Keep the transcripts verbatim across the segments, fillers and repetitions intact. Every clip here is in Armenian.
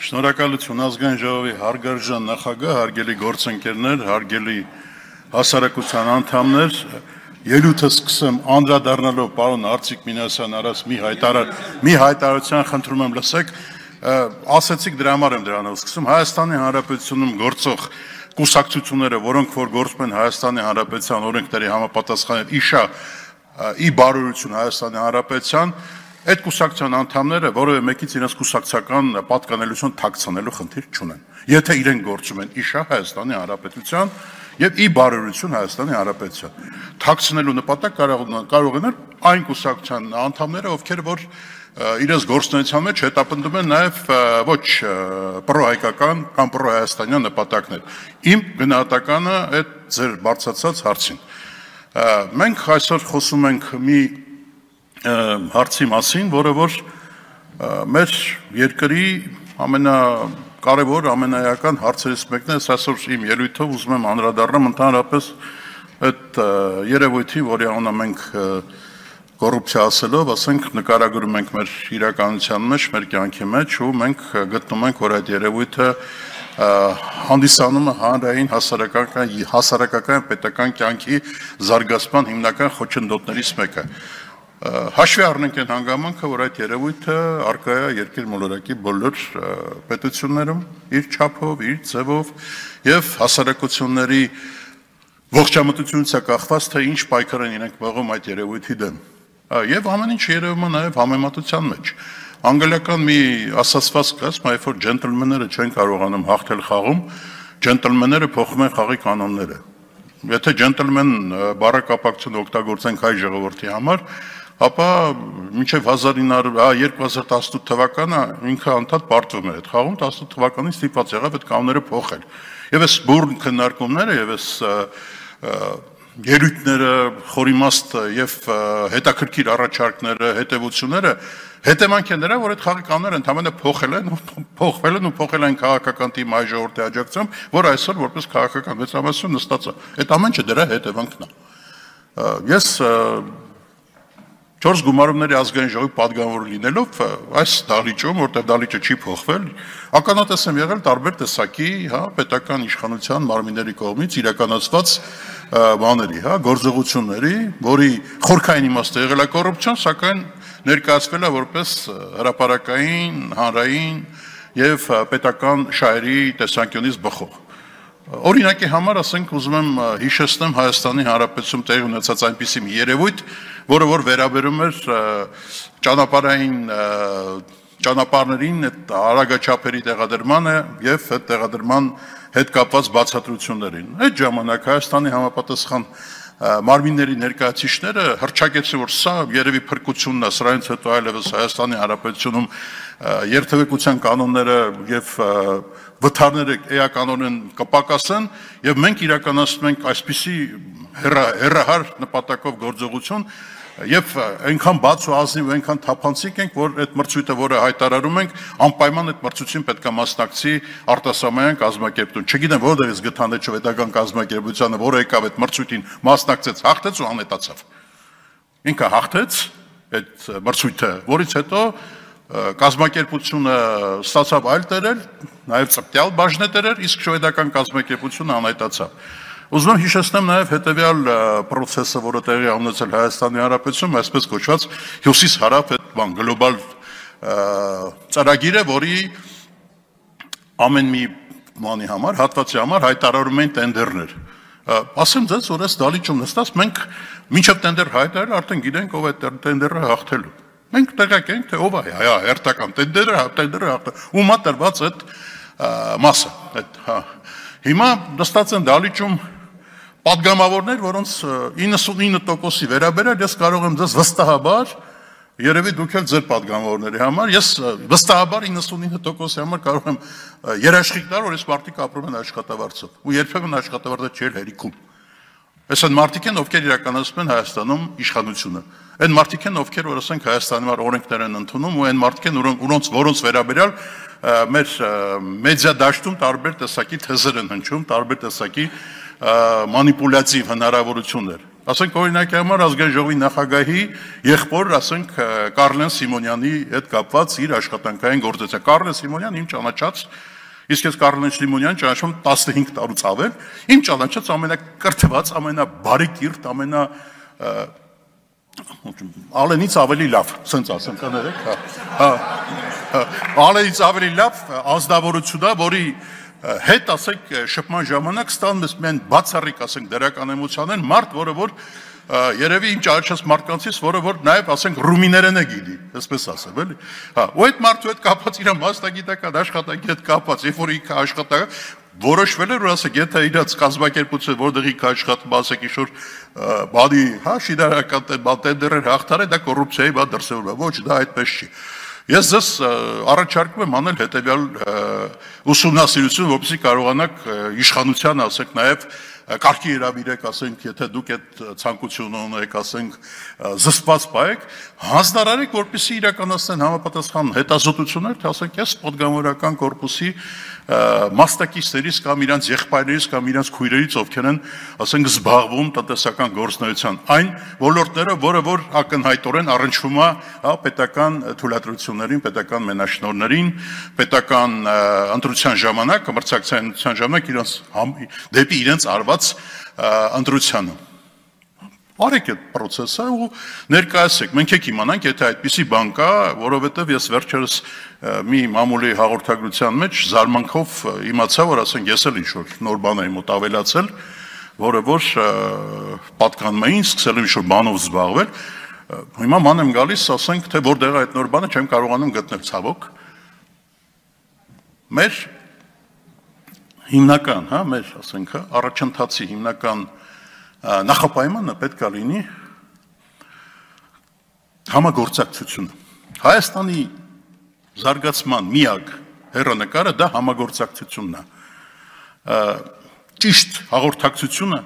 Շնորհակալություն ազգային ժողովի հարգարժան նախագահ, հարգելի գործընկերներ, հարգելի հասարակության անդամներ, ելույթը սկսեմ անդրադառնալով պարոն Արծիկ Մինասյան արած մի հայտարար, մի հայտարարության խնդրում եմ լսեք, ասացիք դրա համար եմ դրանով սկսում, Հայաստանի Հանրապետությունում գործող կուսակցությունները, որոնք որ գործում են Հայաստանի Հանրապետության օրենքների համապատասխան իշա ի բարօրություն Հայաստանի Հանրապետության, այդ կուսակցության անդամները որևէ մեկից իրենց կուսակցական պատկանելություն թաքցնելու խնդիր չունեն։ Եթե իրենք գործում են իշա Հայաստանի Հանրապետության եւ ի բարօրություն Հայաստանի Հանրապետության, թաքցնելու նպատակ կարող են այն կուսակցության անդամները, ովքեր որ իրենց գործունեության մեջ հետապնդում են նաեւ ոչ պրոհայկական կամ պրոհայաստանյան նպատակներ։ Իմ գնահատականը այդ ձեր բարձրացած հարցին։ Մենք այսօր խոսում ենք մի հարցի մասին, որը որ մեր երկրի ամենակարևոր, ամենաեական հարցերից մեկն է, այսօր իմ ելույթով ուզում եմ անդրադառնամ ընդհանրապես այդ երևույթին, որի անունը մենք կոռուպցիա ասելով, ասենք նկարագրում ենք մեր իրականության մեջ, մեր կյանքի մեջ ու մենք գտնում ենք, որ այդ երևույթը հանդիսանում է հանրային հասարակական, հասարակական պետական կյանքի զարգացման հիմնական խոչընդոտներից մեկը։ Հաշվի առնենք այն հանգամանքը, որ այդ երևույթը առկա է երկիր մոլորակի բոլոր պետություններում, իր չափով, իր ձևով եւ հասարակությունների ողջամտությունից է կախված, թե ինչ պայքար են իրենք մղում այդ երևույթի դեմ։ Եվ ամեն ինչ երևում է նաեւ համեմատության մեջ։ Անգլիական մի ասացված կա, երբ որ ջենտլմենները չեն կարողանում հաղթել խաղում, ջենտլմենները փոխում են խաղի կանոնները։ Եթե ջենտլմեն բառակապակցություն օգտագործենք հայ ժողովրդի համար, ապա մինչև երկու հազար տասնութ թվականը ինքը անդադ պարտվում էր այդ խաղում, տասնութ թվականին ստիպված եղավ այդ կանոնները փոխել։ Եվ այս բուրըն քննարկումները եւ այս ելույթները, խորիմաստ եւ հետաքրքիր առաջարկները, հետեւությունները հետևանք են դրա, որ այդ խաղի կանոնները ընդհանրապես փոխել են, փոխվել են ու փոխել են քաղաքական թիմի հայ ժողովրդի աջակցությամբ, որ այսօր որպես քաղաքական մեծամասնություն նստած է։ Այդ ամենը դրա հետևանքն է։ Ես չորս գումարումների ազգային ժողովի պատգամավոր լինելով այս դահլիճում, որտեղ դահլիճը չի փոխվել, ականատես եմ եղել տարբեր տեսակի, հա, պետական իշխանության մարմինների կողմից իրականացված բաների, հա, գործողությունների, որի խորքային իմաստը եղել է կոռուպցիան, սակայն ներկայացվել է որպես հրապարակային, հանրային եւ պետական շահերի տեսանկյունից բխող։ Օրինակի համար, ասենք, ուզում եմ հիշեցնեմ Հայաստանի Հանրապետությունում տեղի ունեցած այնպիսի մի երևույթ, որը որ վերաբերում էր ճանապարհային ճանապարհներին այդ արագաչափերի տեղադրմանը եւ այդ տեղադրման հետ կապված բացատրություններին։ Այդ ժամանակ Հայաստանի համապատասխան մարմինների ներկայացուցիչները հռչակեցին, որ սա երևի փրկությունն է, սրանից հետո այլևս Հայաստանի Հանրապետությունում երթևեկության կանոնները եւ վթարները էականորեն կպակասեն եւ մենք իրականացնում ենք այսպիսի հեռահար նպատակով գործողություն եւ այնքան բաց ու ազնիվ ու այնքան թափանցիկ ենք, որ այդ մրցույթը, որը հայտարարում ենք, անպայման այդ մրցույթին պետք է մասնակցի արտասահմանյան կազմակերպություն։ Չգիտեմ որտեղից գտան այդ շվեդական կազմակերպությունը, որը եկավ այդ մրցույթին մասնակցեց, հաղթեց ու անհետացավ։ Ինքը հաղթեց այդ մրցույթը, որից հետո կազմակերպությունը ստացավ այլ տերեր, նաեւ ծպտյալ բաժնետերեր, իսկ շվեդական կազմակերպությունը անհետացավ։ Ուզում եմ հիշեցնեմ նաև հետևյալ process-ը, որը տեղի ունեցել Հայաստանի Հանրապետությունում, այսպես կոչված հյուսիս-հարավ այդ բան գլոբալ ծրագիրը, որի ամեն մի բանի համար, հատվածի համար հայտարարում են տենդերներ։ Ասեմ ձեզ, որ այս դահլիճում նստած մենք մինչև տենդեր հայտարարել, արդեն գիտենք ով է տենդերը հաղթելու։ Մենք տեղյակ ենք, թե ով է հայ հերթական տենդերը, տենդերը հաղթել։ Ումա տրված այդ մասը, այդ հա։ Հիմա նստած են դահլիճում պատգամավորներ, որոնց իննսունինը տոկոսի վերաբերյալ ես կարող եմ ձեզ վստահաբար, երևի դուք էլ ձեր պատգամավորների համար, ես վստահաբար իննսունինը տոկոսի համար կարող եմ երաշխիք տալ, որ այս մարդիկ ապրում են աշխատավարձով, ու երբեմն աշխատավարձը չի հերիքում։ Այս են մարդիկ են, ովքեր իրականացնում են Հայաստանում իշխանությունը։ Այն մարդիկ են, ովքեր որ ասենք Հայաստանի համար օրենքներ են ընդունում, ու այն մարդիկ են, որոնց որոնց վերաբերյալ մեր մեդիա դաշտում տարբեր տեսակի թեզեր են հնչում, տարբեր տեսակի մանիպուլյատիվ հնարավորություններ։ Ասենք օրինակի համար ազգային ժողովի նախագահի եղբոր, ասենք Կարլեն Սիմոնյանի հետ կապված իր աշխատանքային գործընթացը։ Կարլեն Սիմոնյան իմ ճանաչած, իսկ ես Կարլեն Սիմոնյան ճանաչում տասնհինգ տարուց ավել, իմ ճանաչած ամենակրթված, ամենաբարեկիրթ, ամենա Ալենից ավելի լավ, սենց ասեմ կներեք, հա։ Ալենից ավելի լավ ազնվորություն է, որի հետ ասենք շփման ժամանակ ստանում ես մեն բացառիկ ասենք դերականեմության են մարդ, որը որ երևի իմ ճանաչած մարդկանցից, որը որ նաև ասենք ռումիներեն է գիտի, այսպես ասեմ, էլի։ Հա, ու այդ մարդու հետ կապված իր մասնագիտական աշխատանքի հետ կապված, երբ որ ինքը աշխատանքը որոշվել էր, որ ասեք, եթե իրաց կազմակերպությունը որտեղ ինքը աշխատում, ասեք ինչ-որ բանի, հա, շինարարական տենդերներ հաղթարը, դա կոռուպցիայի բա դրսևորվում է, ոչ, դա այդպես չի։ Ես ձեզ առաջարկում եմ անել հետևյալ ուսումնասիրություն, որպեսզի կարողանաք իշխանության, ասենք, նաև կարգի հրավիրեք, ասենք, եթե դուք այդ ցանկությունը ունեք, ասենք, զսպված պայեք, հանձնարարեք, որպեսզի իրականացնեն համապատասխան հետազոտություններ, թե ասենք, ես պատգամավորական կորպուսի մասնակիցներից կամ իրանց եղբայրներից կամ իրանց քույրերից ովքեր են, ասենք, զբաղվում տնտեսական գործունեության այն ոլորտները, որը որ ակնհայտորեն առնչվում է պետական թույլատրություններին, պետական մենաշնորհներին, պետական ընտրության ժամանակ, մրցակցային ընտրության ժամանակ իրենց դեպի իրենց արված ընտրությանը։ Արեք այդ պրոցեսը ու ներկայացեք, մենք եք իմանանք, եթե այդպիսի բան կա, որովհետև ես վերջերս մի մամուլի հաղորդագրության մեջ զարմանքով իմացա, որ ասենք ես էլ ինչ-որ նոր բան եմ մոտ ավելացել, որը որ պատկանում էին, սկսել եմ ինչ-որ բանով զբաղվել, հիմա ման եմ գալիս, ասենք, թե որտեղ է այդ նոր բանը չեմ կարողանում գտնել ցավոք։ Մեր հիմնական, հա, մեր, ասենք, առաջընթացի հիմնական նախապայմանը պետք է լինի համագործակցությունը։ Հայաստանի զարգացման միակ հեռանկարը դա համագործակցությունն է։ Ճիշտ հաղորդակցությունը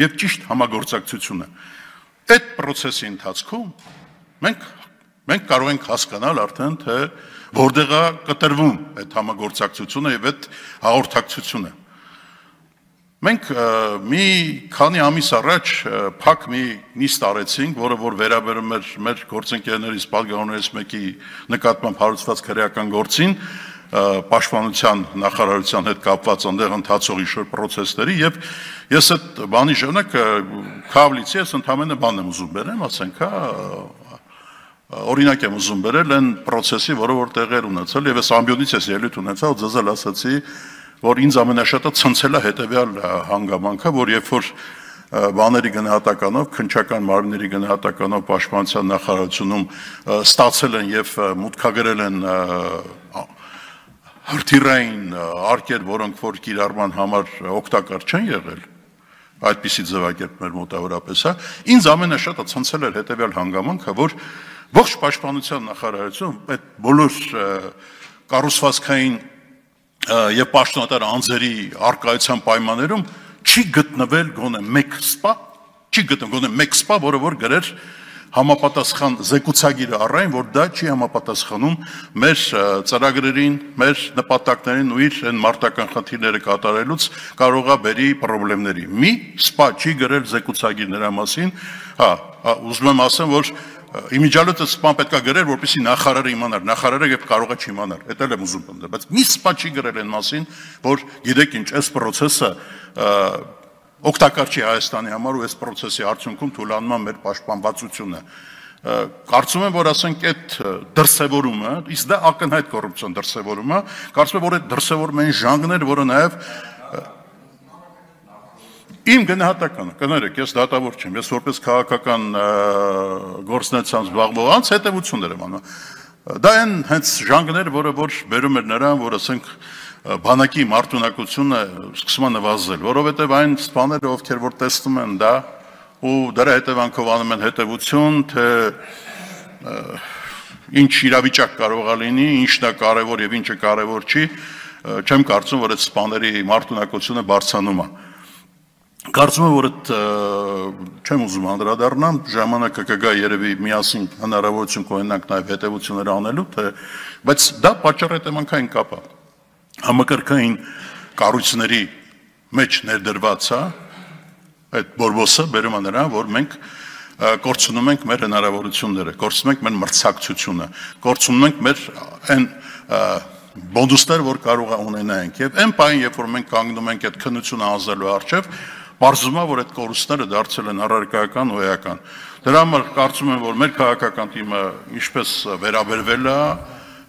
եւ ճիշտ համագործակցությունը։ Այդ process-ի ընթացքում մենք մենք կարող ենք հասկանալ արդեն թե որտեղ է կտրվում այդ համագործակցությունը եւ այդ հաղորդակցությունը։ Մենք մի քանի ամիս առաջ փակ մի նիստ արեցինք, որը որ վերաբերում էր մեր գործընկերներից պատգամավորներից մեկի նկատմամբ հարուցված քրեական գործին, պաշտպանության նախարարության հետ կապված այնտեղ ընթացող ինչ-որ process-ների եւ ես այդ բանի ժամանակ քավլիցի ես ընդհանրապես բան եմ ուզում բերեմ, ասենք, հա օրինակ եմ ուզում բերել այն process-ի, որը որ տեղեր ունեցել եւ ես ամբիոնից ես ելույթ ունեցա ու ձեզ էլ ասացի, որ ինձ ամենաշատը ցնցել է հետևյալ հանգամանքը, որ երբ որ բաների գնահատականով, քննչական մարմինների գնահատականով պաշտպանության նախարարությունում ստացել են եւ մուտքագրել են հրթիռային արկեր, որոնք որ կիրառման համար օգտակար չեն եղել, այդպիսի ձևակերպներ մոտավորապես, հա, ինձ ամենաշատը ցնցել էր հետևյալ հանգամանքը, որ ողջ պաշտպանության նախարարությունը այդ բոլոր կառուցվածքային եւ պաշտոնատար անձերի արկայության պայմաններում չի գտնվել գոնե մեկ սպա, չի գտնվել գոնե մեկ սպա, որը որ գրեր համապատասխան զեկուցագիրը առայն, որ դա չի համապատասխանում մեր ծրագրերին, մեր նպատակներին ու իր այն մարտական խնդիրները կատարելուց կարող է բերի խնդիրների։ Մի սպա չի գրել զեկուցագիր նրա մասին, հա, ուզում եմ ասեմ, որ իմիջիալոց սպան պետք է գրել, որպեսզի նախարարը իմանար, նախարարը եւ կարող է չիմանար։ Դա էլ եմ ուզում ընդդեմ, բայց մի սպա չի գրել այն մասին, որ գիտեք ինչ, այս process-ը օգտակար չի Հայաստանի համար ու այս process-ի արդյունքում թուլանում է մեր պաշտպանվածությունը։ Կարծում եմ, որ ասենք այդ դրսևորումը, իսկ դա ակնհայտ կոռուպցիոն դրսևորում է, կարծում եմ, որ այդ դրսևորումը այն ժանգներ, որը նաեւ Իմ գնահատականը, կներեք, ես դատավոր չեմ, ես որպես քաղաքական գործունեությամբ զբաղվող անձ հետևություններ եմ անում։ Դա այն հենց ժանգներ, որը որ բերում էր նրան, որ ասենք բանակի մարտունակությունը սկսում է նվազել, որովհետև այն սպաները, ովքեր որ տեսնում են դա ու դրա հետևանքով անում են հետևություն, թե ինչ իրավիճակ կարող է լինի, ինչն է կարևոր եւ ինչը կարևոր չի, չեմ կարծում, որ այդ սպաների մարտունակությունը բարձրանում է։ Կարծում եմ, որ այդ չեմ ուզում անդրադառնամ, ժամանակը կգա երևի միասին հնարավորություն կունենանք նաև հետևություններ անելու, թե բայց դա պատճառ հետևանքային կապ է։ Համակարգային կառույցների մեջ ներդրված է Այդ բորբոսը բերում է նրան, որ մենք կորցնում ենք մեր հնարավորությունները, կորցնում ենք մեր մրցակցությունը, կորցնում ենք մեր այն բոնդուստեր, որ կարող է ունենանք։ Եվ այն պահին, երբ որ մենք կանգնում ենք այդ քննությունը անցնելու առջև, բարձվում է, որ այդ կորուստները դարձել են առարկայական ու էական։ Դրա համար կարծում եմ, որ մեր քաղաքական թիմը ինչպես վերաբերվել է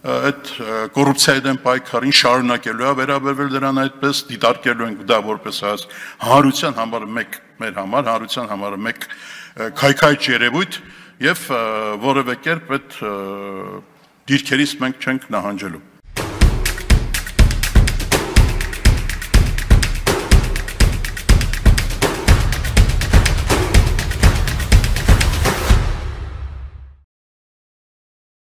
այդ կոռուպցիայի դեմ պայքարին, շարունակելու է վերաբերվել դրան այդպես, դիտարկելու ենք դա որպես հանրության համար մեկ մեր համար, հանրության համար մեկ քայքայիչ երևույթ եւ որևէ կերպ այդ դիրքերից մենք չենք նահանջելու։